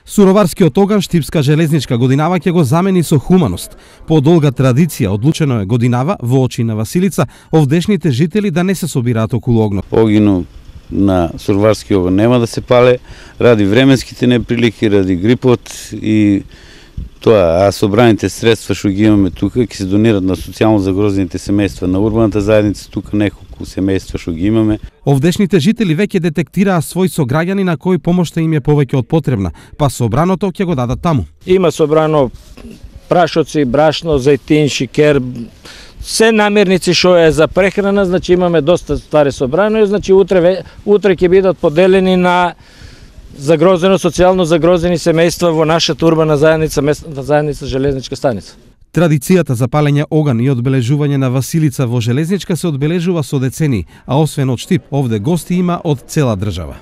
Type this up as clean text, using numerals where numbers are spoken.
Суроварскиот оган Штипска железничка годинава ќе го замени со хуманост. По долга традиција одлучено е годинава во очи на Василица овдешните жители да не се собираат околу огнот. Огинот на Суроварски оган нема да се пале ради временските неприлики, ради грипот и тоа, а собраните средства што ги имаме тука ќе се донират на социјално загрозените семејства на урбаната заедница, тука неколку семејства што ги имаме. Овдешните жители веќе детектираа свој сограѓани на кој помошта им е повеќе од потребна, па собраното ќе го дадат таму. Има собрано прашоци, брашно, зејтин, шикер, се намирници што е за прехрана, значи имаме доста ствари собрано и значи утре ќе бидат поделени на загрозено, социјално загрозени семејства во нашата урбана заедница, местната заедница Железничка станица. Традицијата за палење оган и одбележување на Василица во Железничка се одбележува со децении, а освен од Штип, овде гости има од цела држава.